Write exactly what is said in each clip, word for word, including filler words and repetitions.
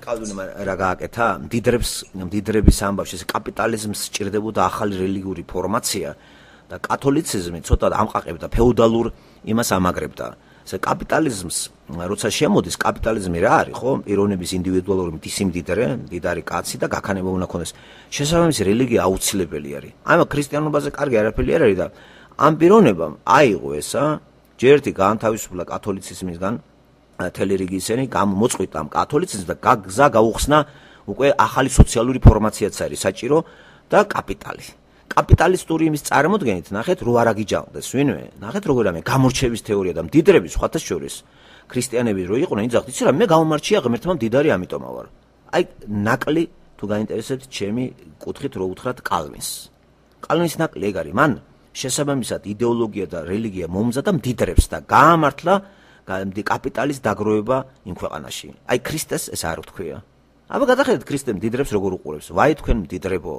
კალვინმა რა გააკეთა? მდიდრებს, მდიდრების ამბავში ეს კაპიტალიზმს სჭირდებოდა ახალი რელიგიური ფორმაცია და კათოლიციზმი ცოტა ამყაყებდა ფეოდალურ იმას ამაგრებდა. ეს კაპიტალიზმს როცა შემოდის კაპიტალიზმი რა არის, ხო? პიროვნების ინდივიდუალური სიმდიდრე, მდიდარი კაცი და გაქანება უნდა ქონდეს. შესაბამისი რელიგია აუცილებელი არის. აი მაგ ქრისტიანობაზე კარგი არაფერი არ არის და ამ პიროვნებამ აიღო ესა, ჯერ ერთი გაანთავისუფლა კათოლიციზმისგან მთელი რიგი ისინი გამოწყვიტა ამ კათოლიციზმს და გზა გაუხსნა უკვე ახალი სოციალური ფორმაციაც არის საჭირო და კაპიტალი. კაპიტალისტური იმის წარმოდგენით ნახეთ რო არ აგიჯანყდეს ვინმე, ნახეთ როგორ ამე გამორჩევის თეორია და მდიდრების სხვათა შორის ქრისტიანები რო იყვნენ, იძახთ, იცი რა, მე გამომარჩია ღმერთმა მდიდარი ამიტომ ვარ. აი ნაკლი თუ გაინტერესებთ ჩემი კუთხით რო უთხრათ კალვინს. კალვინის ნაკლი ეგ არის, მან შესაბამისად იდეოლოგია და რელიგია მომზადა მდიდრებს და გაამართლა კაპიტალის დაგროვება იმ ქვეყანაში. აი ქრისტეს ეს არ ვთქვია. აბა გადახედეთ ქრისტე მდიდრებს როგორ უყურებს. ვაი თქვენ მდიდრებო.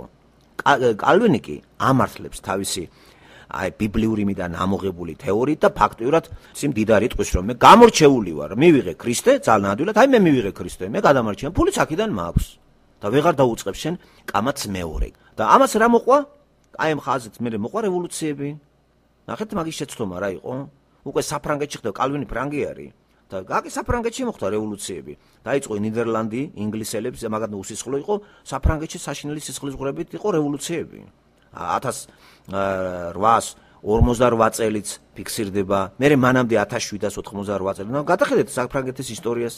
კალვინი კი ამართლებს თავისი აი ბიბლიური მიდან ამოღებული თეორიით და ფაქტიურად სიმდიდარი ტყვის რომ მე გამორჩეული ვარ, მივიღე ქრისტე, ძალიან ადვილად, აი მე მივიღე ქრისტე, მე გადამარჩენ, ფულიც აქედან მაქვს და ვეღარ დაუწყებ შენ კამაც მეორე. და ამას რა მოყვა? აი ამ ხაზით მე მოყვა რევოლუციები. ნახეთ მაგის შეცდომა რა იყო? უკვე საფრანგეთში ხდება, კალვინი ფრანგი არის და გაკი საფრანგეთში მოხდა რევოლუციები. დაიწყო ნიდერლანდი, ინგლისელებს, მაგათ უსისხლო იყო, საფრანგეთში საშინელი სისხლის ღვრებით იყო რევოლუციები. ათას რვაას ორმოცდარვა წელიც ფიქსირდება, მერე მანამდე ათას შვიდას ოთხმოცდარვა წელი. გადახედეთ საფრანგეთის ისტორიას.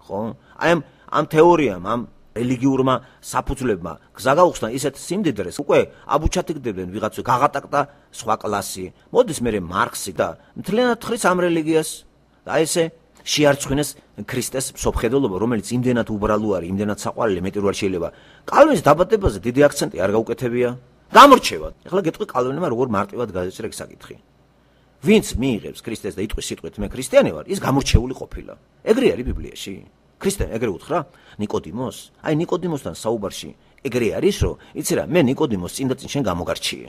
ხო? აი ამ ამ თეორიამ, ამ რელიგიურმა საფუძვლებმა გზა გაუხსნა ისეთ სიმდიდრეს, უკვე აბუჩათიგდებდნენ ვიღაცა გაღატაკდა სხვა კლასი. მოდის მერე მარქსი და მთლიანად თხრის ამ რელიგიას და ესე შეარწმუნეს ქრისტეს მსოფლმხედველობა, რომელიც იმდენად უბრალო არის, იმდენად საყვარელი, მეტი რო არ შეიძლება. კალვინის დაბადებაზე დიდი აქცენტი არ გაუკეთებია. გამორჩევა. ეხლა გეტყვი კალვინმა როგორ მარტივად გადაჭრა ეს საკითხი. ვინც მიიღებს ქრისტეს და იტყვის სიტყვით მე ქრისტიანი ვარ, ის გამორჩეული ყოფილა. ეგრე არის ბიბლიაში. ქრისტე ეგრე უთხრა ნიკოდიმოს? აი ნიკოდიმოსთან საუბარში ეგრე არის, რომ იცი რა, მე ნიკოდიმოს წინ და წინ შენ გამოგარჩიე.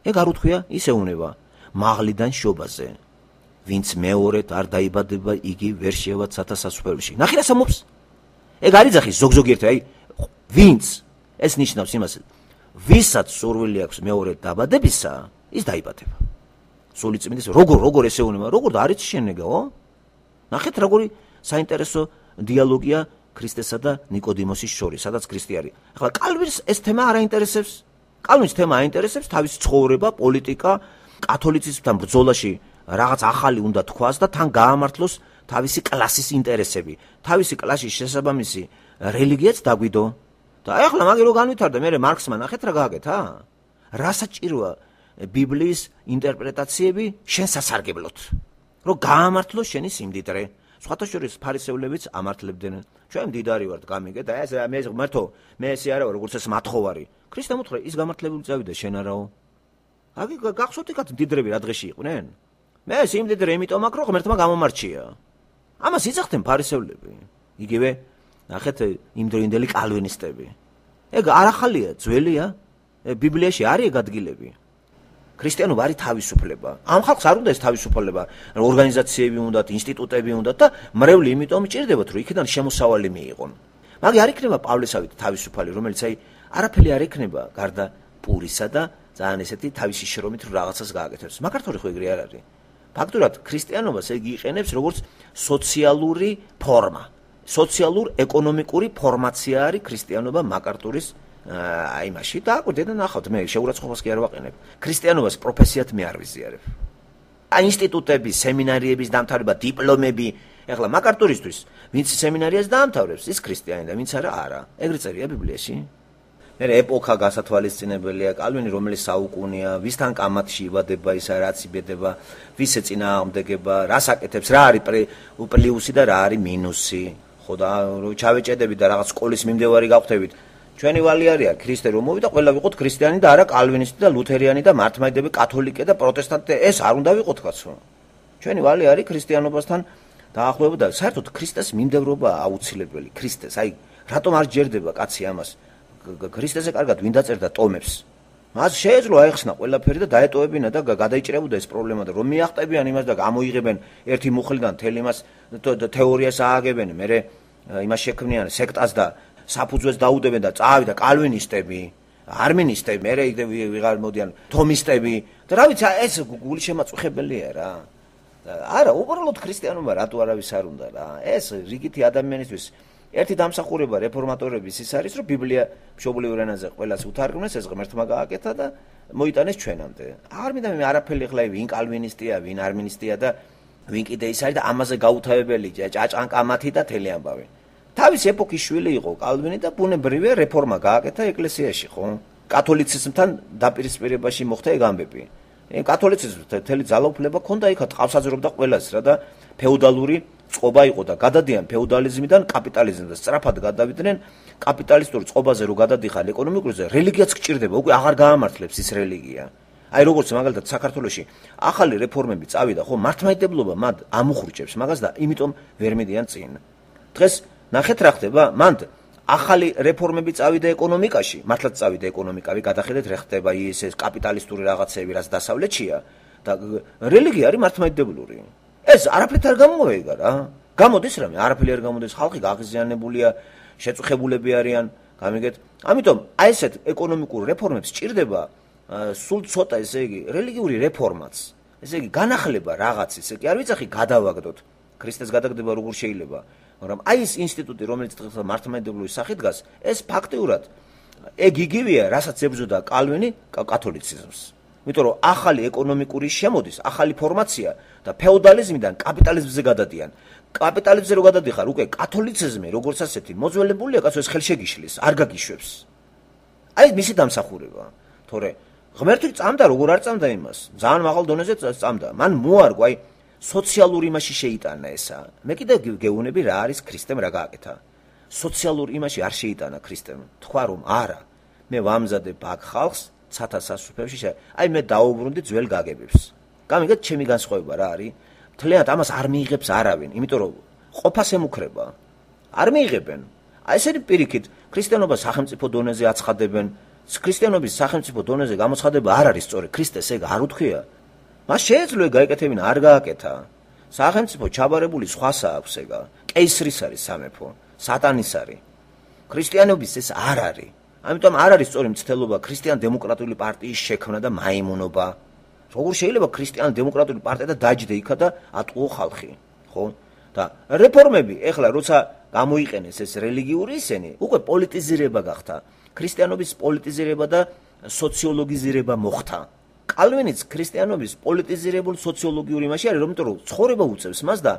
ეგ არ უთქვია, ისე უნება მაღლიდან შობაზე. ვინც მეორედ არ დაიბადება, იგი ვერ შევა ცათა სასუფეველში. ნახე რა სამობს? ეგ არის ძახი ზოგ-ზოგიერთი, აი ვინც ეს ნიშნავს იმას, ვისაც სურვილი აქვს მეორედ დაბადებისა, ის დაიბადება. სულიწმინდის როგორ როგორ ესე უნება, როგორ და არის შენეგაო? ნახეთ როგორი საინტერესო დიალოგია ქრისტესა და ნიკოდიმოსის შორის, სადაც ქრისტე არის. ახლა კალვინს ეს თემა არ აინტერესებს. კალვინს თემა აინტერესებს თავის ცხოვრება, პოლიტიკა, კათოლიციზმთან ბრძოლაში რაღაც ახალი უნდა თქვას და თან გაამართლოს თავისი კლასის ინტერესები. თავისი კლასის შესაბამისი რელიგიაც დაგვიდო. და აი ახლა მაგე რო განვითარდა, მე მარქსმა ნახეთ რა გააკეთა? რა საჭიროა ბიბლიის ინტერპრეტაციები შენ სასარგებლოდ, რომ გაამართლოს შენი სიმდიდრე. სხვათა შორის ფარისევლებიც ამართლებდნენ. ჩვენ მდიდარი ვართ, გამიგე და ეს მე ღმერთო, მე ესე არა ვარ, როგორც ეს მათხოვარი. ქრისტემ უთხრა, ის გამართლებული წავიდა, შენ არაო. აგი გახსოვთ იქაც მდიდრები რა დღეში იყვნენ? მე სიმდიდრე იმიტომ აქ რო ღმერთმა გამომარჩია. ამას იცახდნენ ფარისევლები. იგივე ნახეთ იმდროინდელი კალვინისტები. ეგ არ ახალია, ძველია. ბიბლიაში არის ეგ ადგილები. ქრისტიანობა არის თავისუფლება. ამ ხალხს არ უნდა ეს თავისუფლება, ორგანიზაციები უნდათ, ინსტიტუტები უნდათ და მრევლი იმიტომ ჭირდებათ, რომ იქიდან შემოსავალი მიიღონ. მაგ არ იქნება პავლესავით თავისუფალი, რომელიც აი არაფერი არ იქნება გარდა პურისა და ძალიან ესეთი თავისი შრომით რაღაცას გააკეთებს. მაგართორი ხო ეგრე არ არის. ფაქტურად ქრისტიანობას ეგ იყენებს როგორც სოციალური ფორმა. სოციალურ-ეკონომიკური ფორმაცია არის ქრისტიანობა მაკარტურის აი მაშინ და აკვირდეთ და ნახავთ, მე შეურაცხყოფას კი არ ვაყენებ. ქრისტიანობას პროფესიად მე არ ვიზიარებ. აი ინსტიტუტები, სემინარიების დამთავრება, დიპლომები, ეხლა მაკარტურისთვის, ვინც სემინარიას დაამთავრებს, ის ქრისტიანი და ვინც არა, არა. ეგრე წერია ბიბლიაში. მე ეპოქა გასათვალისწინებელია, კალვინი რომელიც საუკუნეა, ვისთან კამათში იბადება, ისა რაც იბედება, ვის ეწინააღმდეგება, რას აკეთებს, რა არის პლუსი და რა არის მინუსი. ხო და ჩავეჭედებით და რაღაც სკოლის მიმდევარი გავხდებით. ჩვენი ვალი არის ქრისტე რომ მოვიდა, ყველა ვიყოთ ქრისტიანი და არა კალვინისტი და ლუთერიანი და მართლმადიდებელი კათოლიკე და პროტესტანტი, ეს არ უნდა ვიყოთ კაცო. ჩვენი ვალი არის ქრისტიანობასთან დაახლოება და საერთოდ ქრისტეს მიმდევრობა აუცილებელი. ქრისტეს, აი რატომ არ ჯერდება კაცი ამას? ქრისტეზე კარგად ვინ დაწერდა ტომებს? მას შეეძლო აეხსნა ყველაფერი და დაეტოვებინა და გადაიჭრებოდა ეს პრობლემა და რომ მიახტებიან იმას და გამოიღებენ ერთი მუხლიდან თელ იმას თეორიას ააგებენ, მერე იმას შექმნიან სექტას და საფუძვეს დაუდებენ და წავიდა კალვინისტები, არმინისტები, მერე ვიღარ მოდიან თომისტები და რა ვიცი ეს გული შემაწუხებელია რა. არა, უბრალოდ ქრისტიანობა რატო არავის არ უნდა რა. ეს რიგითი ადამიანისთვის ერთი დამსახურება რეფორმატორების ის არის, რომ ბიბლია მშობლიურ ენაზე ყველას უთარგმნეს, ეს ღმერთმა გააკეთა და მოიტანეს ჩვენამდე. არ მინდა მე არაფერი ხლა ვინ კალვინისტია, ვინ არმინისტია და ვინ კიდე ის არის და ამაზე გაუთავებელი ჭაჭანკამათი და თელი ამბავი. თავის ეპოქის შვილი იყო კალვინი და ბუნებრივია რეფორმა გააკეთა ეკლესიაში, ხო? კათოლიციზმთან დაპირისპირებაში მოხდა ეგ ამბები. კათოლიციზმს თელი ძალაუფლება ჰქონდა იქ ტყავსაძრობდა ყველას რა და ფეოდალური წყობა იყო და გადადიან ფეოდალიზმიდან კაპიტალიზმზე სწრაფად გადავიდნენ კაპიტალისტური წყობაზე რო გადადიხარ ეკონომიკურზე რელიგიაც გჭირდება უკვე აღარ გაამართლებს ის რელიგია აი როგორც მაგალითად საქართველოში ახალი რეფორმები წავიდა ხო მართლმადიდებლობა მათ ამუხრუჭებს მაგას და იმიტომ ვერ მიდიან წინ დღეს ნახეთ რა ხდება მანდ ახალი რეფორმები წავიდა ეკონომიკაში მართლაც წავიდა ეკონომიკავი გადახედეთ რა ხდება ის ეს კაპიტალისტური რაღაცები რაც დასავლეთშია და რელიგია არის მართლმადიდებლური ეს არაფრით არ გამოვეგა რა. გამოდის რამე, არაფერი არ გამოდის, ხალხი გაღიზიანებულია, შეწუხებულები არიან, გამიგეთ. ამიტომ აი ესეთ ეკონომიკურ რეფორმებს სჭირდება სულ ცოტა ესე იგი რელიგიური რეფორმაც. ესე იგი განახლება რაღაცის, ესე იგი არ ვიცახი გადავაგდოთ. ქრისტეს გადაგდება როგორ შეიძლება, მაგრამ აი ეს ინსტიტუტი რომელიც დღეს მართლმადიდებლური სახით დგას, ეს ფაქტიურად ეგ იგივეა, რასაც ებრძოდა კალვინი კათოლიციზმს. იმიტომ რომ ახალი ეკონომიკური შემოდის, ახალი ფორმაცია და ფეოდალიზმიდან კაპიტალიზმზე გადადიან. კაპიტალიზმზე რო გადადიხარ, უკვე კათოლიციზმი როგორც ასეთი მოძველებულია, კაცო ეს ხელშეგიშლის, არ გაგიშვებს. აი მისი დამსახურება. თორე ღმერთი წამდა, როგორ არ წამდა იმას. ძალიან მაღალ დონეზე წამდა. მან მოარგო, აი სოციალურ იმაში შეიტანა ესა. მე კიდე გეუბნები რა არის ქრისტემ რა გააკეთა. სოციალურ იმაში არ შეიტანა ქრისტემ. თქვა რომ არა. მე ვამზადებ აქ ხალხს ცათა სასუფევში აი მე დაუბრუნდი ძველ გაგებებს. გამიგეთ ჩემი განსხვავება რა არის? მთლიანად ამას არ მიიღებს არავინ, იმიტომ რომ ყოფას ემუქრება. არ მიიღებენ. აი ესეთი პირიქით ქრისტიანობა სახელმწიფო დონეზე აცხადებენ. ქრისტიანობის სახელმწიფო დონეზე გამოცხადება არ არის სწორი. ქრისტეს ეგ არ უთქვია. მას შეეძლო გაეკეთებინა, არ გააკეთა. სახელმწიფო ჩაბარებული სხვასა აქვს ეგა. კეისრის არის სამეფო, სატანის არის. ქრისტიანობის ეს არ არის. ამიტომ არ არის სწორი მცდელობა ქრისტიან-დემოკრატიული პარტიის შექმნა და მაიმუნობა. როგორ შეიძლება ქრისტიან-დემოკრატიული პარტია და დაჯდე იქა და ატყუო ხალხი, ხო? და რეფორმები ეხლა როცა გამოიყენეს ეს რელიგიური ისენი, უკვე პოლიტიზირება გახდა. ქრისტიანობის პოლიტიზირება და სოციოლოგიზირება მოხდა. კალვინიც ქრისტიანობის პოლიტიზირებულ სოციოლოგიური იმაში არის, რომ იმიტომ რომ ცხოვრება უწევს მას და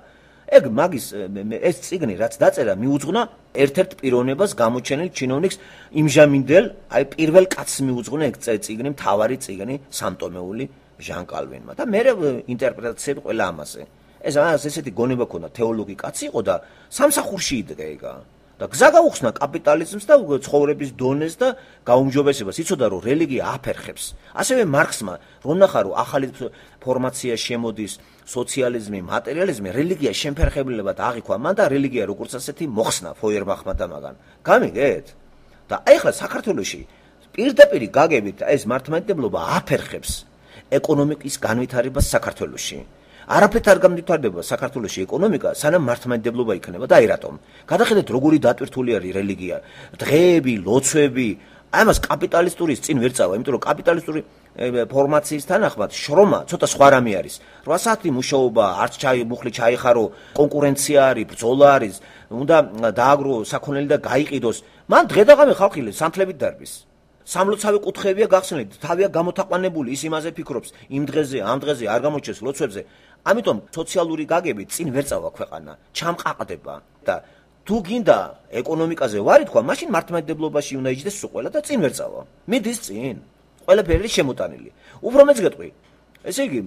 ეგ მაგის ეს წიგნი რაც დაწერა მიუძღვნა ერთ-ერთ პიროვნებას გამოჩენილ ჩინოვნიკს იმჟამინდელ აი პირველ კაცს მიუძღვნა ეგ წიგნი მთავარი წიგნი სამტომეული ჟან კალვინმა და მე ინტერპრეტაციები ყველა ამაზე ეს ამას ესეთი გონება ქონდა თეოლოგი კაცი იყო და სამსახურში იდგა ეგა და გზა გაუხსნა კაპიტალიზმს და ცხოვრების დონეს და გაუმჯობესებას იცოდა რომ რელიგია აფერხებს ასევე მარქსმა რომ ნახა რომ ახალი ფორმაცია შემოდის სოციალიზმი, მატერიალიზმი, რელიგია შემფერხებლებად აღიქვა მან და რელიგია როგორც ასეთი მოხსნა ფოიერბახმა და მაგან. გამიგეთ? და აი ახლა საქართველოში პირდაპირ გაგებით ეს მართლმადიდებლობა აფერხებს ეკონომიკის განვითარებას საქართველოში. არაფრით არ განვითარდება საქართველოში ეკონომიკა, სანამ მართლმადიდებლობა იქნება და აი რატომ? გადახედეთ როგორი დატვირთული არის რელიგია, დღეები, ლოცვები, აი მას კაპიტალისტურის წინ ვერ წავა, იმიტომ რომ კაპიტალისტური ფორმაციის თანახმად შრომა ცოტა სხვა რამე არის. რვა საათი მუშაობა, არც ჩაი მუხლი ჩაიხარო, კონკურენცია არის, ბრძოლა არის, უნდა დააგრო საქონელი და გაიყიდოს. მან დღე და ღამე ხალხი სამთლებით დარბის. სამლოცავი კუთხეებია გახსნილი, თავია გამოთაყვანებული, ის იმაზე ფიქრობს, იმ დღეზე, ამ დღეზე არ გამოჩეს ლოცვებზე. ამიტომ სოციალური გაგები წინ ვერ წავა ქვეყანა, ჩამყაყდება და თუ გინდა ეკონომიკაზე ვარი თქვა, მაშინ მართლმადიდებლობაში უნდა იჯდეს ყველა და წინ ვერ წავა. მიდის წინ. ყველაფერი შემოტანილი. უფრო მეც გეტყვი. ესე იგი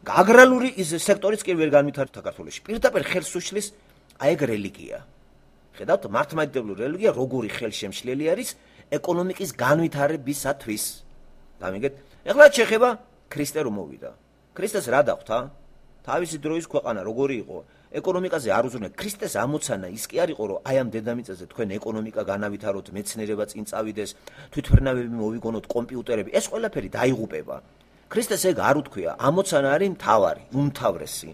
აგრარული ის სექტორიც კი ვერ განვითარდა საქართველოში. პირდაპირ ხელს უშლის აი ეგ რელიგია. ხედავთ, მართლმადიდებლური რელიგია როგორი ხელშემშლელი არის ეკონომიკის განვითარებისათვის. გამიგეთ? ეხლა შეხება ქრისტე რომ მოვიდა. ქრისტეს რა დახვდა? თავისი დროის ქვეყანა როგორი იყო? ეკონომიკაზე არ უზრუნე ქრისტეს ამოცანა ის კი არ იყო რომ აი ამ დედამიწაზე თქვენ ეკონომიკა განავითაროთ, მეცნიერება წინ წავიდეს, თვითმფრინავები მოვიგონოთ, კომპიუტერები, ეს ყველაფერი დაიღუპება. ქრისტეს ეგ არ უთქვია, ამოცანა არის მთავარი, უმთავრესი,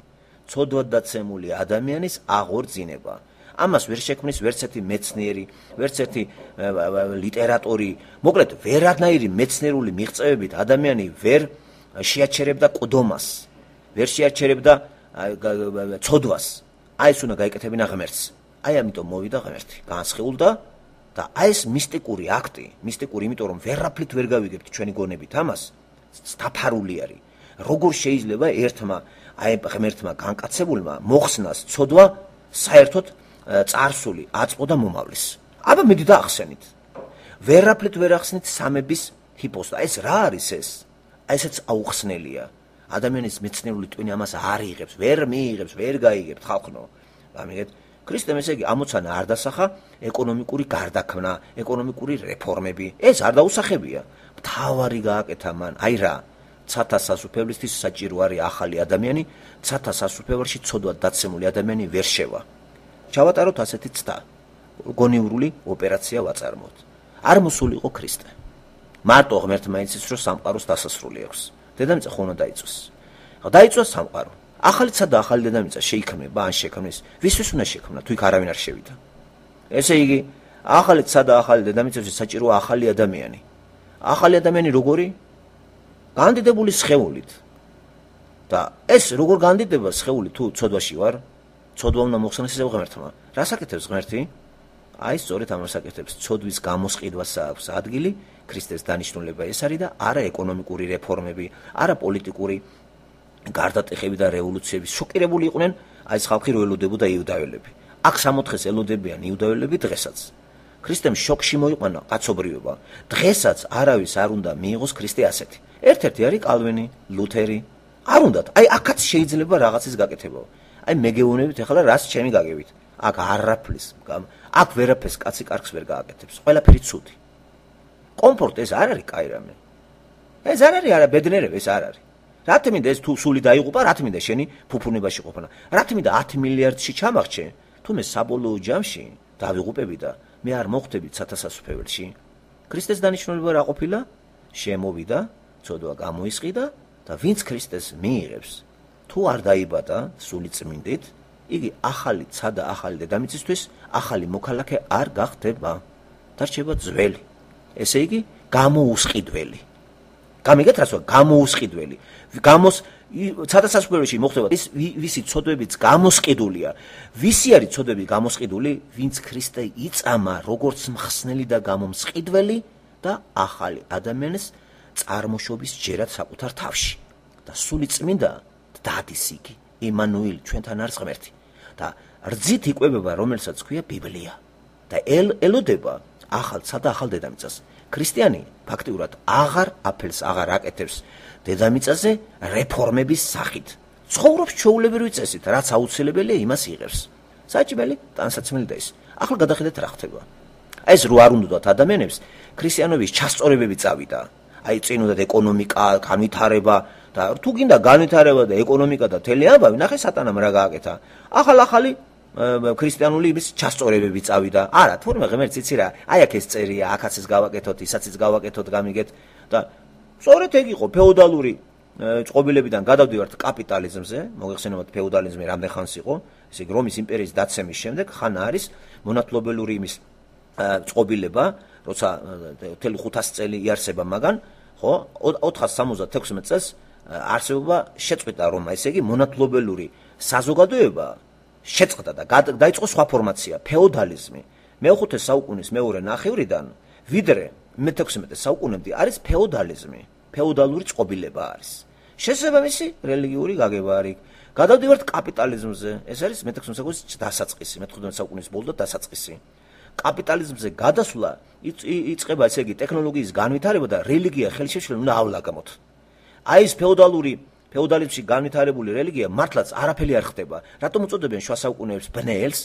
ცოდვად დაცემული ადამიანის აღორძინება. ამას ვერ შექმნის ვერც ერთი მეცნიერი, ვერც ერთი ლიტერატორი. მოკლედ, ვერანაირი მეცნიერული მიღწევებით ადამიანი ვერ შეაჩერებდა ყდომას, ვერ შეაჩერებდა ცოდვას. აი ეს უნდა გაიკეთებინა ღმერთს. აი ამიტომ მოვიდა ღმერთი, განსხეულდა და აი ეს მისტიკური აქტი, მისტიკური, იმიტომ რომ ვერაფრით ვერ გავიგებთ ჩვენი გონებით ამას, დაფარული არის. როგორ შეიძლება ერთმა აი ღმერთმა განკაცებულმა მოხსნას ცოდვა საერთოდ წარსული, აწმყო და მომავლის. აბა მიდი და ახსენით. ვერაფრით ვერ ახსნით სამების ჰიპოსტა. ეს რა არის ეს? აი ესეც აუხსნელია. ადამიანის მეცნიერული ტვინი ამას არ იღებს, ვერ მიიღებს, ვერ გაიგებთ ხალხნო. ამიგეთ ქრისტემ ესე იგი ამოცანა არ დასახა ეკონომიკური გარდაქმნა, ეკონომიკური რეფორმები. ეს არ დაუსახებია. მთავარი გააკეთა მან, აი რა, ცათა სასუფევლისთვის საჭირო არის ახალი ადამიანი, ცათა სასუფეველში ცოდვად დაცემული ადამიანი ვერ შევა. ჩავატაროთ ასეთი ცდა. გონივრული ოპერაცია ვაწარმოოთ. არ მოსულიყო ქრისტე. მარტო ღმერთმა იცის, რომ სამყაროს დასასრული აქვს. დედამიწა ხო უნდა დაიწვას. დაიწვას სამყარო. ახალი ცადა ახალი დედამიწა შეიქმნება, ან შექმნის, ვისთვის უნდა შექმნა, თუ იქ არავინ არ შევიდა. ესე იგი, ახალი ცადა ახალი დედამიწაში საჭიროა ახალი ადამიანი. ახალი ადამიანი როგორი? განდიდებული სხეულით. და ეს როგორ განდიდება სხეული თუ ცოდვაში ვარ? ცოდვა უნდა მოხსნას ისევ ღმერთმა. რას აკეთებს ღმერთი? აი სწორედ ამას აკეთებს. ცოდვის გამოსყიდვას აქვს ადგილი, ქრისტეს დანიშნულება ეს არის და არა ეკონომიკური რეფორმები, არა პოლიტიკური გარდატეხები და რევოლუციები. შოკირებული იყვნენ აი ეს ხალხი, რომ ელოდებოდა იუდაველები. აქ სამოთხეს ელოდებიან იუდაველები დღესაც. ქრისტემ შოკში მოიყვანა კაცობრიობა. დღესაც არავის არ უნდა მიიღოს ქრისტე ასეთი. ერთ-ერთი არის კალვინი, ლუთერი. არ უნდათ. აი აქაც შეიძლება რაღაცის გაკეთება. აი მეგეუნებით ახლა რას ჩემი გაგებით. აქ არაფრის, აქ ვერაფერს კაცი კარგს ვერ გააკეთებს. ყველაფერი ცუდი. კომფორტ ეს არ არის კაი რამე. ეს არ არის არა ბედნერება, ეს არ არის. რატო მინდა ეს თუ სული დაიღუპა, რატო მინდა შენი ფუფუნებაში ყოფნა? რატო მინდა ათი მილიარდში ჩამახჩე? თუ მე საბოლოო ჯამში დავიღუპები და მე არ მოხვდები ცათასასუფეველში. ქრისტეს დანიშნულება რა ყოფილა? შემოვიდა, ცოდვა გამოისყიდა და ვინც ქრისტეს მიიღებს, თუ არ დაიბადა სული წმინდით, იგი ახალი ცადა ახალი დედამიწისთვის ახალი მოქალაქე არ გახდება. დარჩება ძველი. ესე იგი, გამოუსყიდველი. გამიგეთ რას ვარ? გამოუსყიდველი. გამოს ცათასასუფეველში მოხდება ის ვისი ცოდვებიც გამოსყიდულია. ვისი არის ცოდვები გამოსყიდული? ვინც ქრისტე იწამა როგორც მხსნელი და გამომსყიდველი და ახალი ადამიანის წარმოშობის ჯერად საკუთარ თავში. და სული წმინდა დადის იგი, იმანუელი, ჩვენთან არის ღმერთი. და რძით იკვებება, რომელსაც ქვია ბიბლია. და ელოდება ახალსა და ახალ დედამიწას. ქრისტიანი ფაქტიურად აღარ აფელს, აღარ აკეთებს დედამიწაზე რეფორმების სახით. ცხოვრობს ჩვეულებრივი წესით, რაც აუცილებელია იმას იღებს. საჭმელი, ტანსაცმელი და ის. ახლა გადახედეთ რა ხდება. ეს რო არ უნდათ ადამიანებს ქრისტიანობის ჩასწორებები წავიდა. აი წინუდად ეკონომიკა, განვითარება და თუ გინდა განვითარება და ეკონომიკა და თელი ამბავი, ნახე სატანამ რა გააკეთა. ახალ-ახალი ქრისტიანული იმის ჩასწორებები წავიდა. არა, თურმე ღმერთს იცი რა, აი აქ ეს წერია, აქაც ეს გავაკეთოთ, ისაციც გავაკეთოთ, გამიგეთ და სწორედ ეგ იყო ფეოდალური წყობილებიდან გადავდივართ კაპიტალიზმზე, მოგეხსენებათ ფეოდალიზმი რამდენ ხანს იყო, ესე იგი რომის იმპერიის დაცემის შემდეგ ხან არის მონათლობელური იმის წყობილება, როცა მთელი ხუთას წელი იარსება მაგან, ხო, ოთხას სამოცდათექვსმეტ წელს არსებობა შეწყვიტა რომ ესე იგი მონათლობელური საზოგადოება შეწყდა და დაიწყო სხვა ფორმაცია, ფეოდალიზმი. მეოთხე საუკუნის მეორე ნახევრიდან ვიდრე მეთექვსმეტე საუკუნემდე არის ფეოდალიზმი, ფეოდალური წყობილება არის. შესაბამისი რელიგიური გაგება არის. გადავდივართ კაპიტალიზმზე, ეს არის მეთექვსმეტე საუკუნის დასაწყისი, მეთერთმეტე საუკუნის ბოლო და დასაწყისი. კაპიტალიზმზე გადასვლა იწყება ესე იგი ტექნოლოგიის განვითარება და რელიგია ხელშეშლილ უნდა ავლაგამოთ. აი ეს ფეოდალური ფეოდალიზმში განვითარებული რელიგია მართლაც არაფერი არ ხდება. რატომ უწოდებენ შუა საუკუნეებს ბნელს?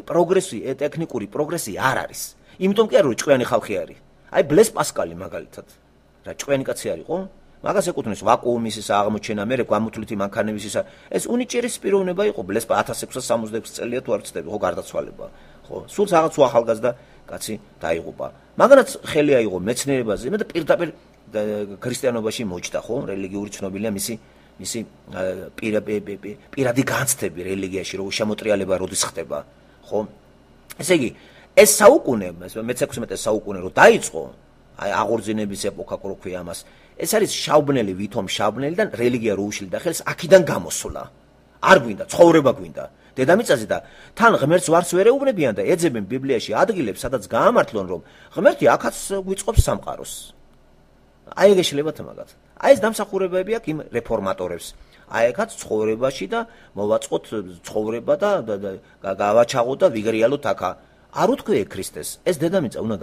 პროგრესი, ტექნიკური პროგრესი არ არის. იმიტომ კი არ რომ ჭკვიანი ხალხი არის. აი ბლეს პასკალი მაგალითად. რა ჭკვიანი კაცი არისო? მაგას ეკუთვნის ვაკუუმის ისა აღმოჩენა, მე გვამოთვლითი მანქანების ისა. ეს უნიჭერის პიროვნება იყო ბლეს ათას ექვსას სამოცდაექვსი წელია თუ არ ვცდები, ხო გარდაცვალება. ხო, სულ რაღაც უახალგაზრდა კაცი დაიღუპა. მაგანაც ხელი აიღო მეცნიერებაზე, მე და პირდაპირ ქრისტიანობაში მოჭდა, ხო, რელიგიური ცნობილია მისი მისი პირადი განცდები რელიგიაში, რომ შემოტრიალება როდის ხდება. ხო? ესე იგი, ეს საუკუნე, მეექვსმეტე საუკუნე რო დაიწყო, აი აღორძინების ეპოქა რო ქვია ამას, ეს არის შავბნელი, ვითომ შავბნელიდან რელიგია რო უშლიდა ხელს, აქიდან გამოსულა. არ გვინდა, ცხოვრება გვინდა. დედამიწაზე და თან ღმერთს ვარც ვერ ეუბნებიან და ეძებენ ბიბლიაში ადგილებს, სადაც გაამართლონ, რომ ღმერთი აქაც გვიწყობს სამყაროს. აი ეგ შეიძლება თმაგად. აი ეს დამსახურებები აქვს იმ რეფორმატორებს. აი ეგაც ცხოვრებაში და მოვაწყოთ ცხოვრება და გავაჩაღოთ და ვიგრიალოთ აქა. არ უთქვია ქრისტეს, ეს დედამიწა უნდა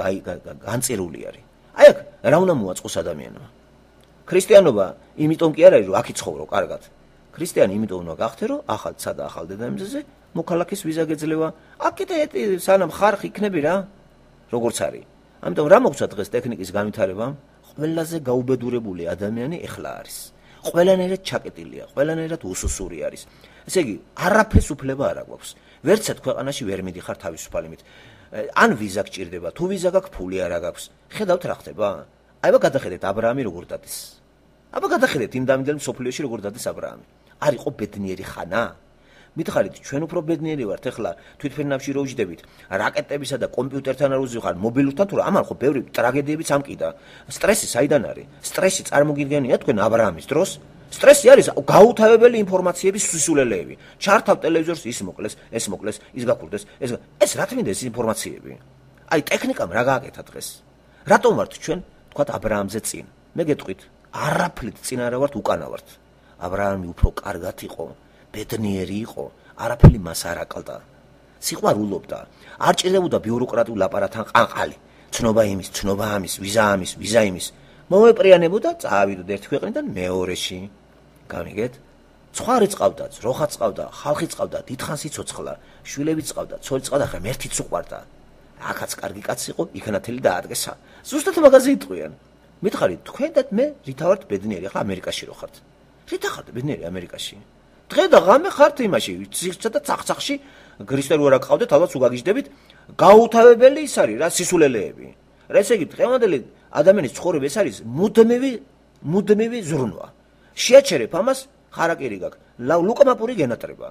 განწირული არის. აი აქ რა უნდა მოაწყოს ადამიანმა? ქრისტიანობა იმიტომ კი არ არის, რომ აქ იცხოვრო კარგად. ქრისტიანი იმიტომ უნდა გახდე, რომ ახალ სადა ახალ დედამიწაზე მოქალაქის ვიზა გეძლევა. აქ კიდე სანამ ხარხ იქნები რა, როგორც არის. ამიტომ რა მოგცვა დღეს ტექნიკის განვითარებამ? ყველაზე გაუბედურებული ადამიანი ეხლა არის. ყველანაირად ჩაკეტილია, ყველანაირად უსუსური არის. ესე იგი, არაფერს უფლება არ აქვს. ვერცად ქვეყანაში ვერ მიდიხარ თავისუფალებით. ან ვიზა გჭირდება, თუ ვიზა გაქვს, ფული არ აქვს. ხედავთ რა ხდება? აიბა გადახედეთ აბრაამი როგორ დადის. აბა გადახედეთ იმ დამიდელ მსოფლიოში როგორ დადის აბრაამი. არ იყო ბედნიერი ხანა? მითხარით, ჩვენ უფრო ბედნიერი ვართ ახლა თვითფრინავში რო ვიждებით, რაკეტებისა და კომპიუტერთან არ უზიხარ, მობილურთან თუ რა, ამან ხო ბევრი ტრაგედიებიც ამკიდა. სტრესი საიდან არის? სტრესი წარმოგიდგენია თქვენ აბრაამის დროს? სტრესი არის გაუთავებელი ინფორმაციების სისულელეები. ჩართავ ტელევიზორს, ის მოკლეს, ეს მოკლეს, ის გაქურდეს, ეს ეს რა თქმა უნდა ეს ინფორმაციები. აი ტექნიკამ რა გააკეთა დღეს? რატომ ვართ ჩვენ თქვათ აბრაამზე წინ? მე გეტყვით, არაფრით წინ არა ვართ, უკანა ვართ. აბრაამი უფრო კარგად იყო, ბედნიერი იყო, არაფერი მას არ აკლდა. სიყვარულობდა, არ ჭირდებოდა ბიუროკრატიულ აპარატთან ყანყალი. ცნობა იმის, ცნობა ამის, ვიზა ამის, ვიზა იმის. მოეპრიანებოდა, წავიდოდ ერთ ქვეყნიდან მეორეში. გამიგეთ? ცხარი წყავდა, ძროხა წყავდა, ხალხი წყავდა, დიდხანს იცოცხლა, შვილები წყავდა, ცოლი წყავდა, ხა მერთიც უყვარდა. აქაც კარგი კაცი იყო, იქნათელი დაადგესა. ზუსტად მაგაზე იტყვიან. მითხარით, თქვენ და მე რითა ვართ ბედნიერი, ახლა ამერიკაში რო ხართ. რითა ხართ ბედნიერი ამერიკაში? დღე და ღამე ხართ იმაში, ციხსა და ცახცახში, ქრისტე რო არა გყავდეთ, ალბათ უგაგიჟდებით, გაუთავებელი ის არის რა, სისულელეები. რა ესე იგი, დღევანდელი ადამიანის ცხოვრება ეს არის მუდმივი, მუდმივი ზრუნვა. შეაჩერებ ამას, ხარაკირი გაქვს, ლუკამაპური გენატრება.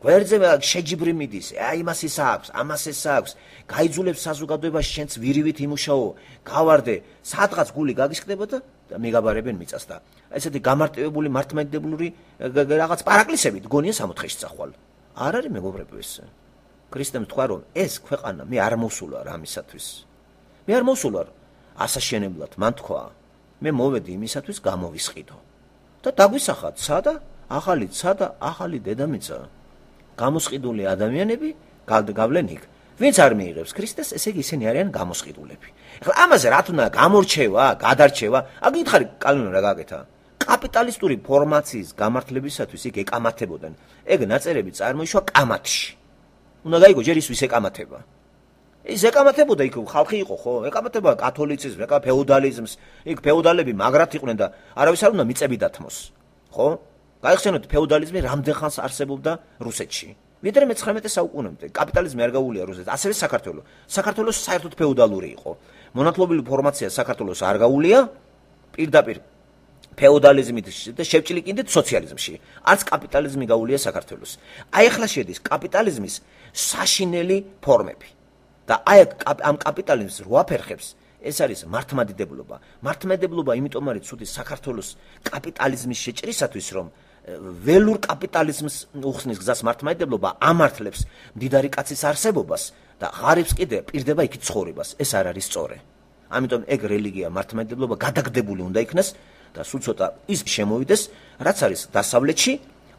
გვერდზე შეჯიბრი მიდის, აი იმას ის აქვს, ამას ეს აქვს, გაიძულებს საზოგადოებაში შენც ვირივით იმუშაო, გავარდე, სადღაც გული გაგისკდება და მეგაბარებენ მიწას და ესეთი გამარტივებული მართლმადიდებლური რაღაც პარაკლისებით გონია სამოთხეში წახვალ. არ არის მეგობრებო ეს. ქრისტემ თქვა რომ ეს ქვეყანა მე არ მოსულვარ ამისათვის. მე არ მოსულვარ ასაშენებლად, მან თქვა. მე მოვედი იმისათვის გამოვისყიდო. და დაგვისახათ სადა ახალი სადა ახალი დედამიწა. გამოსყიდული ადამიანები გავლენ იქ. ვინც არ მიიღებს ქრისტეს, ესე იგი ისინი არიან გამოსყიდულები. ეხლა ამაზე რა თქმა გამორჩევა, გადარჩევა, აგითხარი კალვინო რა გააკეთა? კაპიტალისტური ფორმაციის გამართლებისათვის იქ ეკამათებოდნენ. ეგ ნაწერები წარმოიშვა კამათში. უნდა გაიგო ჯერ ის ვის ეკამათება. ის ეკამათებოდა იქ ხალხი იყო ხო? ეკამათება კათოლიციზმს, ეკა ფეოდალიზმს, იქ ფეოდალები მაგრად იყვნენ და არავის არ უნდა მიწები დათმოს. ხო? გაიხსენოთ ფეოდალიზმი რამდენ ხანს არსებობდა რუსეთში. ვიდრე მეცხრამეტე საუკუნემდე კაპიტალიზმი არ გაუვლია რუსეთს, ასევე საქართველოს. საქართველოს საერთოდ ფეოდალური იყო. მონათლობელი ფორმაცია საქართველოს არ გაუვლია პირდაპირ ფეოდალიზმით და შევჭლიკინდით სოციალიზმში. არც კაპიტალიზმი გაუვლია საქართველოს. აი ახლა შედის კაპიტალიზმის საშინელი ფორმები. და აი ამ კაპიტალიზმს რო აფერხებს, ეს არის მართლმადიდებლობა. მართლმადიდებლობა იმიტომ არის ცუდი საქართველოს კაპიტალიზმის შეჭრისათვის, რომ ველურ კაპიტალიზმს უხსნის გზას მართლმადიდებლობა ამართლებს მდიდარი კაცის არსებობას და ღარიბს კიდე პირდება იქით ცხოვრებას. ეს არ არის სწორი. ამიტომ ეგ რელიგია მართლმადიდებლობა გადაგდებული უნდა იქნას და სულ ცოტა ის შემოვიდეს, რაც არის დასავლეთში,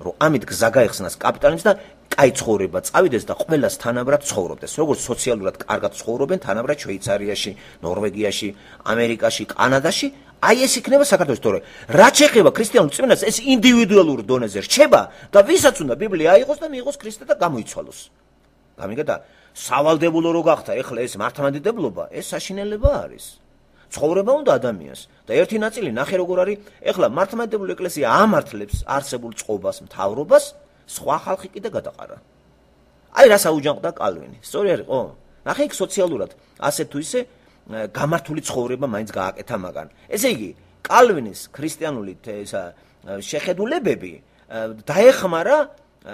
რომ ამით გზა გაიხსნას კაპიტალიზმს და კაი ცხოვრება წავიდეს და ყველას თანაბრად ცხოვრობდეს. როგორც სოციალურად კარგად ცხოვრობენ თანაბრად შვეიცარიაში, ნორვეგიაში, ამერიკაში, კანადაში, აი ეს იქნება საქართველოს თორე. რაც შეეხება ქრისტიანულ წმინდანს, ეს ინდივიდუალურ დონეზე რჩება და ვისაც უნდა ბიბლია აიღოს და მიიღოს ქრისტე და გამოიცვალოს. გამიგეთ და სავალდებულო რო გახდა ეხლა ეს მართლმადიდებლობა, ეს საშინელება არის. ცხოვრება უნდა ადამიანს და ერთი ნაწილი ნახე როგორ არის, ეხლა მართლმადიდებლური ეკლესია ამართლებს არსებულ წყობას, მთავრობას, სხვა ხალხი კიდე გადაყარა. აი რა საუჯანყდა კალვინი. სწორი არის ხო? ნახე იქ სოციალურად ასე თუ ისე გამართული ცხოვრება მაინც გააკეთა მაგან. ესე იგი, კალვინის ქრისტიანული ესა შეხედულებები დაეხმარა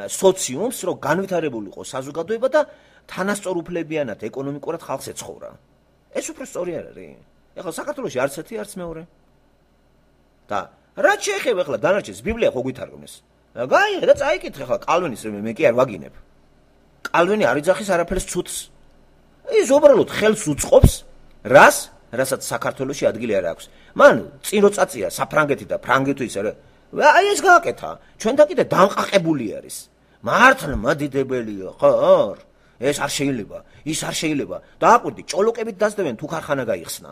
სოციუმს, რომ განვითარებულიყო საზოგადოება და თანასწორ უფლებიანად ეკონომიკურად ხალხს ეცხოვრა. ეს უფრო სწორი არ არის. ეხლა საქართველოში არც ერთი არც მეორე. და რაც შეეხება ეხლა დანარჩენს ბიბლია ხო გვითარგმნეს. გაიღე და წაიკითხე ხა კალვინის მე კი არ ვაგინებ. კალვინი არ იძახის არაფერს ცუდს. ის უბრალოდ ხელს უწყობს რას, რასაც საქართველოში ადგილი არ აქვს. მან წინ რო წაწია საფრანგეთი და ფრანგეთი ის არა. აი ეს გააკეთა. ჩვენთან კიდე დამყაყებული არის. მართლა მადიდებელია, ხო? ეს არ შეიძლება, ის არ შეიძლება. დააკვირდი, ჭოლოკებით დასდევენ თუ ქარხანა გაიხსნა.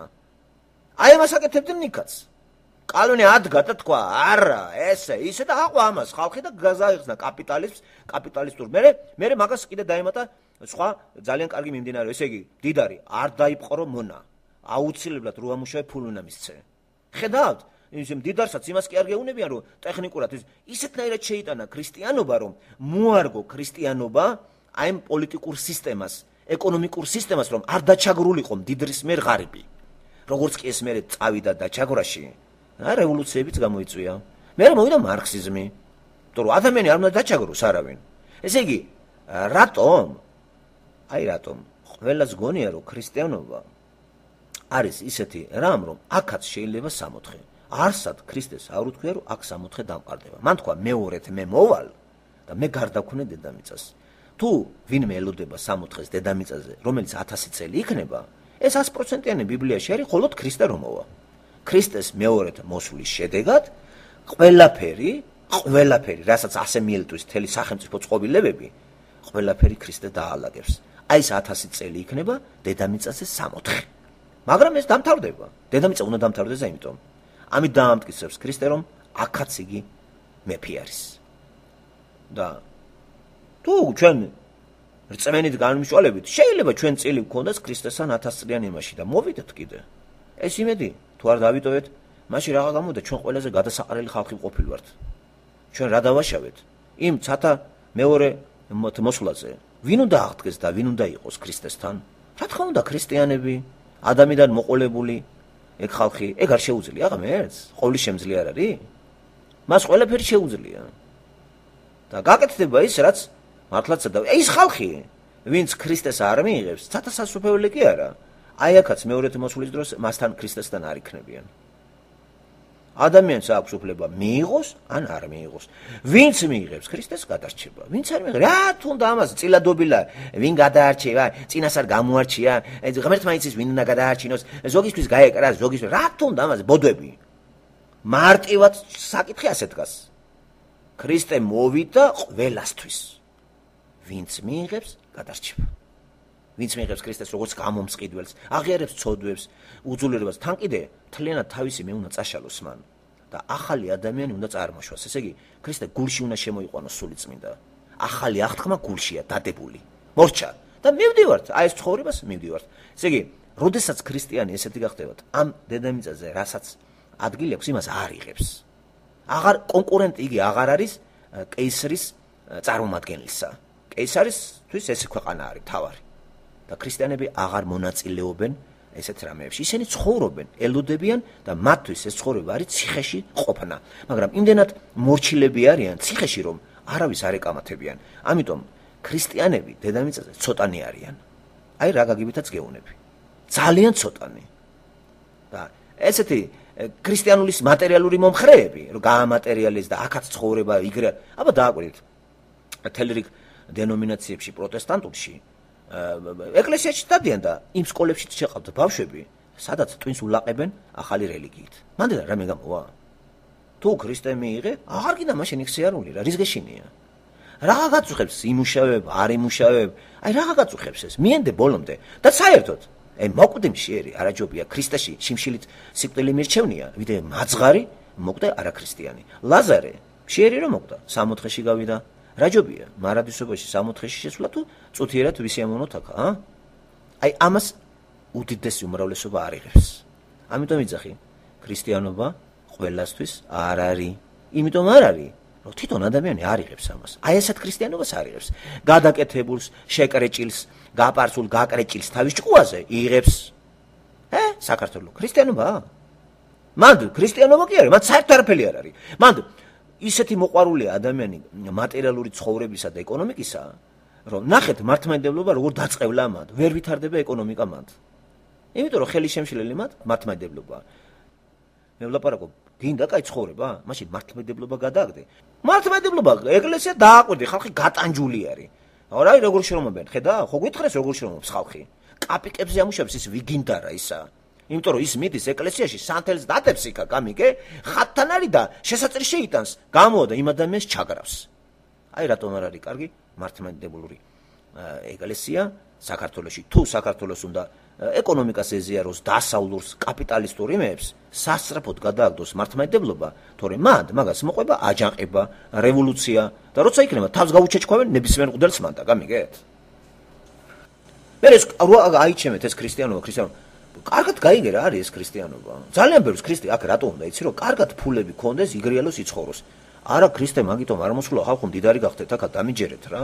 აი ამას აკეთებდნენ ნიკაც. კალვინი ადგა და თქვა, არა, ესე, ისე და აყვა ამას ხალხი და გაზაიხსნა კაპიტალიზმს, კაპიტალისტურ. მერე, მერე მაგას კიდე დაემატა სხვა ძალიან კარგი მიმდინარე, ესე იგი, დიდარი, არ დაიპყრო მონა. აუცილებლად რო ამუშავე ფული უნდა მისცე. ხედავთ? ისე დიდარსაც იმას კი არ გეუბნებიან, რომ ტექნიკურად ის ისეთნაირად შეიტანა ქრისტიანობა, რომ მოარგო ქრისტიანობა აი ამ პოლიტიკურ სისტემას, ეკონომიკურ სისტემას, რომ არ დაჩაგრულიყო მდიდრის მიერ ღარიბი. როგორც კი ეს მერე წავიდა დაჩაგვრაში, რა რევოლუციებიც გამოიწვია. მერე მოვიდა მარქსიზმი. იმიტომ რომ ადამიანი არ უნდა დაჩაგროს არავინ. ესე იგი, რატომ? აი რატომ? ყველას გონია, რომ ქრისტიანობა არის ისეთი რამ, რომ აქაც შეიძლება სამოთხე. არსად ქრისტეს არ უთქვია, რომ აქ სამოთხე დამყარდება. მან თქვა მეორედ მე მოვალ და მე გარდაქვნე დედამიწას. თუ ვინმე ელოდება სამოთხეს დედამიწაზე, რომელიც ათასი წელი იქნება, ეს ათი პროცენტიანი ბიბლიაში არის, მხოლოდ ქრისტე რომ მოვა. ქრისტეს მეორედ მოსვლის შედეგად ყველაფერი, ყველაფერი, რასაც ასე მიელთვის მთელი სახელმწიფო წყობილებები, ყველაფერი ქრისტე დაალაგებს. აი ეს ათასი წელი იქნება დედამიწაზე სამოთხე. მაგრამ ეს დამთავრდება. დედამიწა უნდა დამთავრდეს ამიტომ. ამით დაამტკიცებს ქრისტე, რომ აქაც იგი მეფე არის. და თუ ჩვენ რწმენით განმშვალებით, შეიძლება ჩვენ წილი გქონდეს ქრისტესთან ათას წლიან იმაში და მოვიდეთ კიდე. ეს იმედი თუ არ დავიტოვეთ, მაშინ რაღა გამოდა ჩვენ ყველაზე გადასაყრელი ხალხი ყოფილვართ. ჩვენ რა დავაშავეთ? იმ ცათა მეორე მოსვლაზე. ვინ უნდა აღდგეს და ვინ უნდა იყოს ქრისტესთან? რა თქმა უნდა ქრისტიანები, ადამიანიდან მოყოლებული ეგ ხალხი, ეგ არ შეუძლია ღმერთს? ყოვლის შემძლე არ არის? მას ყველაფერი შეუძლია. და გაკეთდება ის, რაც მართლაც და ის ხალხი, ვინც ქრისტეს არ მიიღებს, ცათა სასופველი კი არა. აი აქაც მეორეთ მოსვლის დროს მასთან ქრისტესთან არ იქნებიან. ადამიანს აქვს უფლება მიიღოს ან არ მიიღოს. ვინც მიიღებს ქრისტეს გადარჩება, ვინც არ მიიღებს, რა თუნდა ამას წილადობილა, ვინ გადაარჩევა, წინასწარ გამოარჩია, ღმერთმა იცის ვინ უნდა გადაარჩინოს, ზოგისთვის გაეკრა, ზოგისთვის, რა თუნდა ამას ბოდვები. მარტივად საკითხი ასე დგას. ქრისტე მოვიდა ყველასთვის. ვინც მიიღებს გადარჩება. ვინც მიიღებს ქრისტეს როგორც გამომწყიდველს, აღიარებს ცოდვებს, უძულებას, თან კიდე თლიანად თავისი მე უნდა წაშალოს მან და ახალი ადამიანი უნდა წარმოშვას. ესე იგი, ქრისტე გულში უნდა შემოიყვანოს სულიწმინდა. ახალი აღთქმა გულშია დადებული. მორჩა და მივდივართ, აი ეს ცხოვრებას მივდივართ. ესე იგი, როდესაც ქრისტიანი ესეთი გახდებათ, ამ დედამიწაზე, რასაც ადგილი აქვს, იმას არ იღებს. აღარ კონკურენტი იგი აღარ არის კეისრის წარმომადგენლისა. კეისარისთვის ეს ქვეყანა არის თავარი. და ქრისტიანები აღარ მონაწილეობენ ესეთ რამეებში. ისინი ცხოვრობენ, ელოდებიან და მათთვის ეს ცხოვრება არის ციხეში ყოფნა. მაგრამ იმდენად მორჩილები არიან ციხეში, რომ არავის არ ეკამათებიან. ამიტომ ქრისტიანები დედამიწაზე ცოტანი არიან. აი რა გაგიბითაც გეუნები. ძალიან ცოტანი. და ესეთი ქრისტიანულის მატერიალური მომხრეები, რომ გაამატერიალიზ და აქაც ცხოვრება იგრე, აბა დააკვირდით. თელრიგ დენომინაციებში პროტესტანტულში ეკლესიაში დადიან და იმ სკოლებში შეყავთ ბავშვები, სადაც ტვინს ულაყებენ ახალი რელიგიით. მანდ რა მე გამოვა? თუ ქრისტე მიიღე, აღარ კიდე მაშინ იქ სიარული რა, რის გეშინია? რა გაწუხებს იმუშავებ, არ იმუშავებ? აი რა გაწუხებს ეს? მიენდე ბოლომდე და საერთოდ აი მოკვდე მშიერი არაჯობია ქრისტეში შიმშილით სიკვდილი მირჩევნია, ვიდრე მაძღარი მოკვდე არაქრისტიანი. ლაზარე მშიერი რომ მოკვდა, სამოთხეში გავიდა. რაჯობია, მარადისობაში სამოთხეში შესვლა თუ წუთიერად ვისიამოვნოთ აქ, ა? აი ამას უდიდესი უმრავლესობა არ იღებს. ამიტომ იძახი, ქრისტიანობა ყველასთვის არ არის. იმიტომ არ არის, რომ თვითონ ადამიანი არ იღებს ამას. აი ესეთ ქრისტიანობას არ იღებს. გადაკეთებულს, შეკრეჭილს, გაპარცულ, გაკრეჭილს თავის ჭკუაზე იღებს. ე? საქართველოს ქრისტიანობა? მანდ ქრისტიანობა კი არის, მათ საერთოდ არაფერი არ არის. მანდ ისეთი მოყვარულია ადამიანი მატერიალური ცხოვრებისა და ეკონომიკისა, რომ ნახეთ მართლმადიდებლობა როგორ დაწყევლა მათ, ვერ ვითარდება ეკონომიკა მათ. იმიტომ რომ ხელი შემშლელი მათ მართლმადიდებლობა. მე ვლაპარაკობ, გინდა კაი ცხოვრება? მაშინ მართლმადიდებლობა გადააგდე. მართლმადიდებლობა ეკლესია დააკვირდი, ხალხი გატანჯული არის. რა როგორ შრომობენ? ხედა? ხო გითხრეს როგორ შრომობს ხალხი? კაპიკებზე ამუშავებს ის ვიგინდა რა ისა. იმიტომ რომ ის მიდის ეკლესიაში სანთელს დადებს იქა გამიგე, ხატთან არის და შესაძლოა შეიტანს, გამოვადა იმ ადამიანს ჩაგრავს. აი რატომ არ არის კარგი მართლმადიდებლური ეკლესია საქართველოში. თუ საქართველოს უნდა ეკონომიკას ეზიაროს, დასავლურს, კაპიტალისტურ იმებს, სასწრაფოდ გადააგდოს მართლმადიდებლობა, თორემ მათ მაგას მოყვება აჯანყება, რევოლუცია და როცა იქნება თავს გაუჩეჩქვევენ ნებისმიერ მღვდელს მანდა, გამიგეთ? მე ეს აიჩემეთ ეს ქრისტიანობა, ქრისტიანობა. კარგად გაიგე რა არის ეს ქრისტიანობა. ძალიან ბევრს ქრისტე აქ რატო უნდა იცი რომ კარგად ფულები ქონდეს, იგრიალოს იცხოვროს. არა ქრისტე მაგიტომ არ მოსულა ხალხო მდიდარი გახდეთ, აქ დამიჯერეთ რა.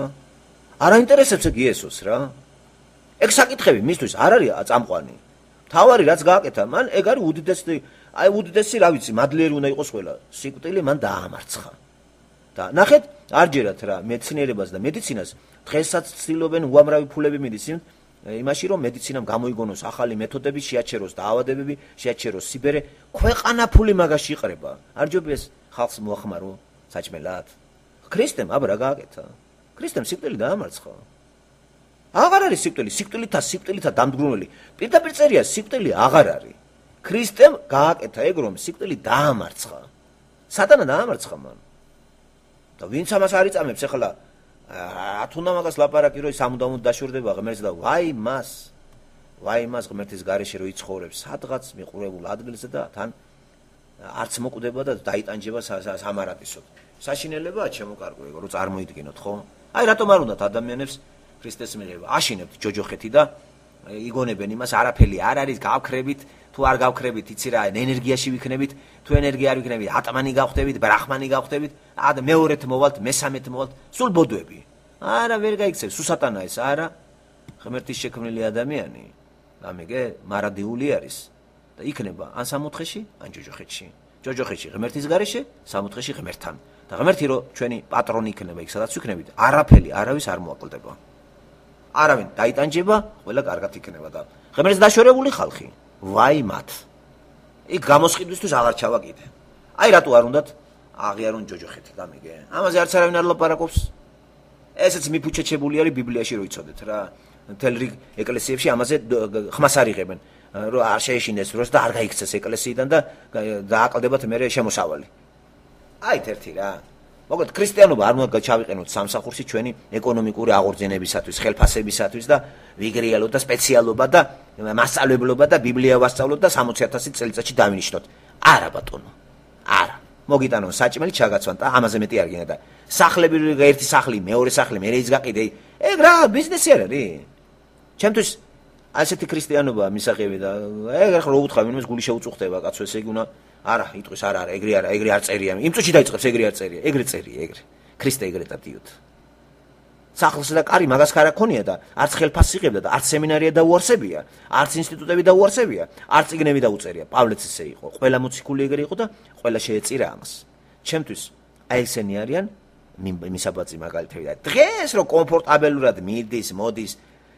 არ აინტერესებს ეგ იესოს რა. ეგ საკითხები მისთვის არ არის წამყვანი. თავარი რაც გააკეთა, მან ეგ არის უდიდესი, აი უდიდესი რა ვიცი, მადლიერი უნდა იყოს ყველა. სიკვდილი მან დაამარცხა. და ნახეთ, არ ჯერათ რა მეცნიერებას და მედიცინას დღესაც ცდილობენ უამრავი ფულები მიდის იმაში რომ მედიცინამ გამოიგონოს ახალი მეთოდები, შეაჩეროს დაავადებები, შეაჩეროს სიბერე, ქვეყანა ფული მაგაში იყრება. არ ჯობია ხალხს მოახმარო საჭმელად. ქრისტემ აბა რა გააკეთა? ქრისტემ სიკვდილი დაამარცხა. აღარ არის სიკვდილი, სიკვდილითა სიკვდილითა დამდგრუნველი. პირდაპირ წერია სიკვდილი აღარ არის. ქრისტემ გააკეთა ეგ რომ სიკვდილი დაამარცხა. სატანა დაამარცხა მან. და ვინც ამას არ იწამებს ახლა რა თუნდა მაგას ლაპარაკი რომ სამუდამოდ დაშორდება ღმერთს და ვაი მას ვაი მას ღმერთის გარეშე რომ იცხოვრებს სადღაც მიყურებულ ადგილზე და თან არც მოკვდება და დაიტანჯება სამარადისოდ. საშინელებაა ჩემო კარგო ეგ რომ წარმოიდგინოთ ხო? აი რატომ არ უნდათ ადამიანებს ქრისტეს მიღება? აშინებთ ჯოჯოხეთი და იგონებენ იმას არაფერი არ არის გავქრებით თუ არ გავქრებით იცი რა ენერგიაში ვიქნებით თუ ენერგია არ ვიქნებით ატმანი გავხდებით ბრაჰმანი გავხდებით და მეორეთ მოვალთ მესამეთ მოვალთ სულ ბოდვები არა ვერ გაიქცევს სუსატანა ეს არა ღმერთის შექმნილი ადამიანი გამიგე მარადიული არის და იქნება ან სამოთხეში ან ჯოჯოხეთში ჯოჯოხეთში ღმერთის გარეშე სამოთხეში ღმერთთან და ღმერთი რო ჩვენი პატრონი იქნება იქ სადაც ვიქნებით არაფერი არავის არ მოაკლდება არავინ დაიტანჯება ყველა კარგად იქნება და ღმერთს დაშორებული ხალხი ვაი მათ იქ გამოსყიდვისთვის აღარ ჩავა კიდე აი რატო არ უნდათ აღიარონ ჯოჯოხეთი გამიგე ამაზე არც არავინ არ ლაპარაკობს ესეც მიფუჩეჩებული არის ბიბლიაში რო იცოდეთ რა მთელ რიგ ეკლესიებში ამაზე ხმას არ იღებენ რომ არ შეეშინეს დროს და არ გაიქცეს ეკლესიიდან და დააკლდებათ მერე შემოსავალი აი ერთი რა მოკლედ ქრისტიანობა არ უნდა ჩავიყენოთ სამსახურში ჩვენი ეკონომიკური აღორძინებისათვის, ხელფასებისათვის და ვიგრიალოთ და სპეციალობა და მასწავლებლობა და ბიბლია ვასწავლოთ და სამოცი ათასი წელიწადში დავინიშნოთ. არა ბატონო. არა. მოგიტანონ საჭმელი ჩაგაცვან და ამაზე მეტი არ გინდა და სახლები ერთი სახლი, მეორე სახლი, მე ის გაყიდე. ეგ რა ბიზნესი არ არის? ჩემთვის ასეთი ქრისტიანობა მისაღები და ეგ ახლა რო უთხრა ვინმეს გული შეუწუხდება კაცო ესე იგი უნდა არა, იტყვის არა, არა, ეგრე არა, ეგრე არ წერია. იმ წუთში დაიწყებს ეგრე არ წერია. ეგრე წერია, ეგრე. ქრისტე ეგრე დადიოთ. სახლს და კარი მაგას ხარ აქონია და არც ხელფასს იღებდა და არც სემინარია დაუარსებია, არც ინსტიტუტები დაუარსებია, არც წიგნები დაუწერია. პავლეც ისე იყო. ყველა მოციქული ეგრე იყო და ყველა შეეწირა ამას. ჩემთვის აი ესენი არიან მისაბაძი მაგალითები და დღეს რო კომფორტაბელურად მიდის, მოდის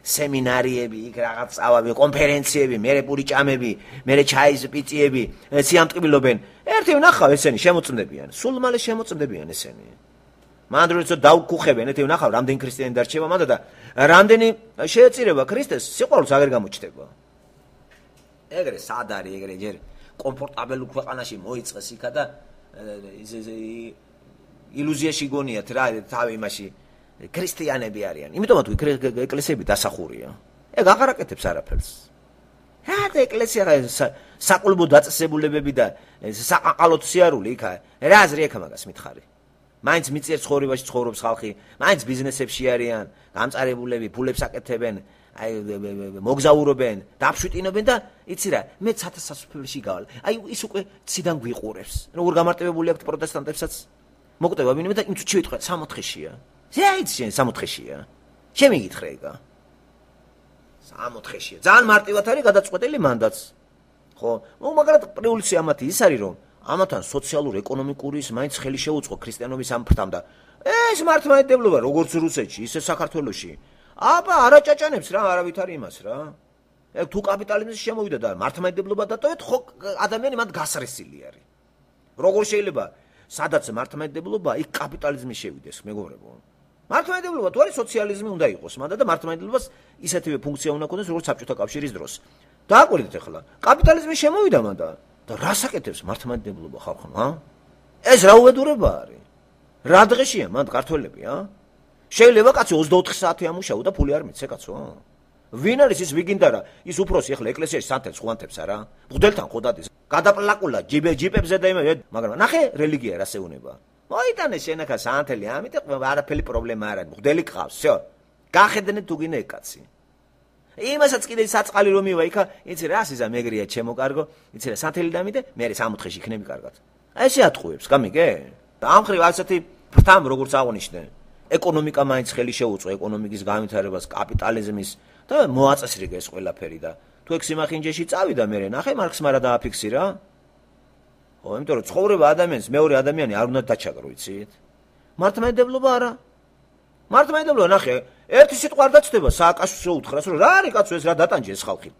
სემინარიები, იქ რაღაც წავები, კონფერენციები, მერე პური ჭამები, მერე ჩაის პიწიები, სიამტკბილობენ. ერთი ვნახავ ესენი შემოწმდებიან, სულ მალე შემოწმდებიან ესენი. მანდ როცა დაუკუხებენ, ერთი ვნახავ, რამდენი ქრისტიანი დარჩება მანდ და რამდენი შეეწირება ქრისტეს, სიყვარულს აღარ გამოჩნდება. ეგრე სად არის, ეგრე ჯერ კომფორტაბელურ ქვეყანაში მოიწყეს იქა და ილუზიაში გონიათ რა, თავი იმაში ქრისტიანები არიან. იმიტომ თუ ეკლესიები დასახურია. ეგ აღარ აკეთებს არაფერს. რა და ეკლესია საყულბო დაწესებულებები და საყაყალოთ სიარული იქა. რა აზრი აქვს მაგას მითხარი? მაინც მიწიერ ცხოვრებაში ცხოვრობს ხალხი, მაინც ბიზნესებში არიან, გამწარებულები, ფულებს აკეთებენ, აი მოგზაურობენ, დაფშვიტინობენ და იცი რა, მე ცათასასწრაფოში გავალ. აი ის უკვე ციდან გვიყურებს. როგორ გამარტივებული აქვთ პროტესტანტებსაც? მოკვდება ვინმე და იმ წუთში ვიტყვე სამოთხეშია. ზეიც შენ სამოთხეშია. შემიგითხრე ეგა. სამოთხეშია. ძალიან მარტივად არის გადაწყვეტილი მანდაც. ხო? ნუ მაგრამ პრინციპი ამათი ის არის რომ ამათან სოციალურ-ეკონომიკური ის მაინც ხელი შეუწყო ქრისტიანობის ამ ფრთამ და ეს მართლმადიდებლობა როგორც რუსეთში, ისე საქართველოში. აბა არა ჭაჭანებს რა, არავითარი იმას რა. ეგ თუ კაპიტალიზმში შემოვიდა და მართლმადიდებლობა დატოვეთ, ხო ადამიანი მათ გასრესილი არის. როგორ შეიძლება სადაც მართლმადიდებლობა, იქ კაპიტალიზმი შევიდეს, მეგობრებო. მართლმადიდებლობა თუ არის სოციალიზმი უნდა იყოს, მაგრამ და მართლმადიდებლობას ისეთივე ფუნქცია უნდა ქონდეს, როგორც საბჭოთა კავშირის დროს. დააკვირდით ახლა, კაპიტალიზმი შემოვიდა მანდა და რას აკეთებს მართლმადიდებლობა ხალხმა, ა? ეს რა უბედურება არის? რა დღეშია მანდ ქართველები, ა? შეიძლება კაცი ოცდაოთხი საათი ამუშაო და ფული არ მიცე კაცო. ვინ არის ის ვიგინდა რა? ის უფროსი ახლა ეკლესიაში სანთელს ხვანთებს არა? მღვდელთან ხო დადის. გადაპლაკულა ჯიბე ჯიპებზე და იმე, მაგრამ ნახე რელიგია რა შეუნება. მოიტანე შენახა სანთელი, ამიტომ არაფერი პრობლემა არ არის. მღვდელი ყავს, всё. გახედნე თუ გინე კაცი. იმასაც კიდე საწყალი რომ მივა იქა, იცი რა სიზა მეგრია ჩემო კარგო, იცი რა სანთელი დამიდე, მე სამოთხეში იქნები კარგად. აი ესე ატყუებს, გამიგე? და ამ ხრივ ასეთი ფრთამ როგორც აღნიშნე, ეკონომიკა მაინც ხელი შეუწყო ეკონომიკის განვითარებას, კაპიტალიზმის და მოაწესრიგა ეს ყველაფერი და თუ ეგ სიმახინჯეში წავიდა მე ნახე მარქსმა რა დააფიქსირა? ხო, იმიტომ რომ ცხოვრება ადამიანს მეორე ადამიანი არ უნდა დაჩაგრო, იცით? მართლმადიდებლობა არა. მართლმადიდებლობა ნახე, ერთი სიტყვა არ დაწდება სააკაშვილს შეუთხრას, რომ რა არის კაცო ეს რა დატანჯე ეს ხალხი.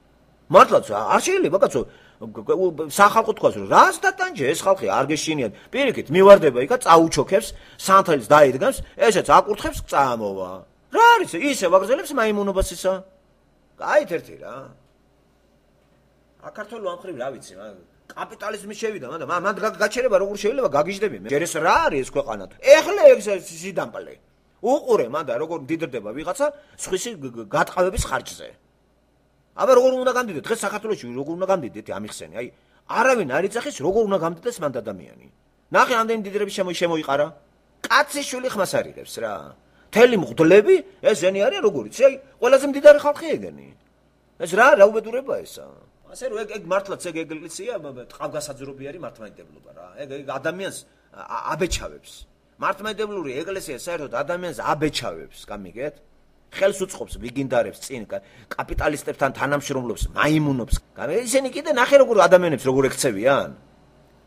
მართლაც არ შეიძლება კაცო სახალხო თქვას რომ რას დატანჯე ეს ხალხი არ გეშინიათ. პირიქით მივარდება იქა წაუჩოქებს, სანთელს დაიდგამს, ესეც აკურთხებს წამოვა. რა არის ისე ვაგრძელებს მაიმუნობას ისა? გაით ერთი რა. აკართოლო ამ ხრივ რა ვიცი, კაპიტალიზმი შევიდა, მაგრამ მან გაჩერება როგორ შეიძლება გაგიჟდები მე. ჯერ ეს რა არის ეს ქვეყანა? ეხლა ეს სიდამპლე. უყურე მან და როგორ დიდრდება ვიღაცა სხვისი გატყავების ხარჯზე. აბა როგორ უნდა გამდიდეთ? დღეს საქართველოში როგორ უნდა გამდიდეთ ამიხსენი? აი, არავინ არ იცახის როგორ უნდა გამდიდეს მანდ ადამიანი. ნახე ამდენი დიდრები შემოიყარა. კაცის შვილი ხმას არიღებს რა. თელი მღვდლები ესენი არიან როგორიც? აი, ყველაზე მდიდარი ხალხი ეგენი. ეს რა რა უბედურება ესა? ასე რომ ეგ ეგ მართლაც ეგ ეკლესია ტყავგასაძრობი არის მართლმადიდებლობა რა. ეგ ეგ ადამიანს აბეჩავებს. მართლმადიდებლური ეკლესია საერთოდ ადამიანს აბეჩავებს, გამიგეთ? ხელს უწყობს ვიგინდარებს წინ კაპიტალისტებთან თანამშრომლობს, მაიმუნობს. ისინი კიდე ნახე როგორ ადამიანებს როგორ ექცევიან?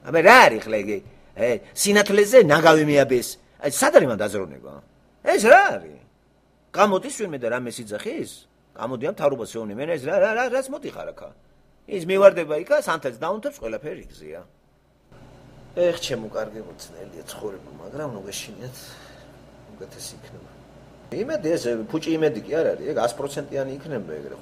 აბა რა არის ხლა ეგ? სინათლეზე ნაგავი მიაბეს. აი სად არის მან დაზროვნება? ეს რა არის? გამოდის ვინმე და რამე სიძახის? გამოდიან მთავრობას შეუნე მე ეს რა რა რას მოდიხარ აქა? ის მივარდება იქა სანთელს დაუნთებს ყველაფერი იგზია. ეხ ჩემო კარგი მოცნელია ცხოვრება, მაგრამ ნუ გეშინიათ უკეთესი იქნება. იმედი ეს ფუჭი იმედი კი არ არის, ეგ ათი პროცენტიანი იქნება ეგრე.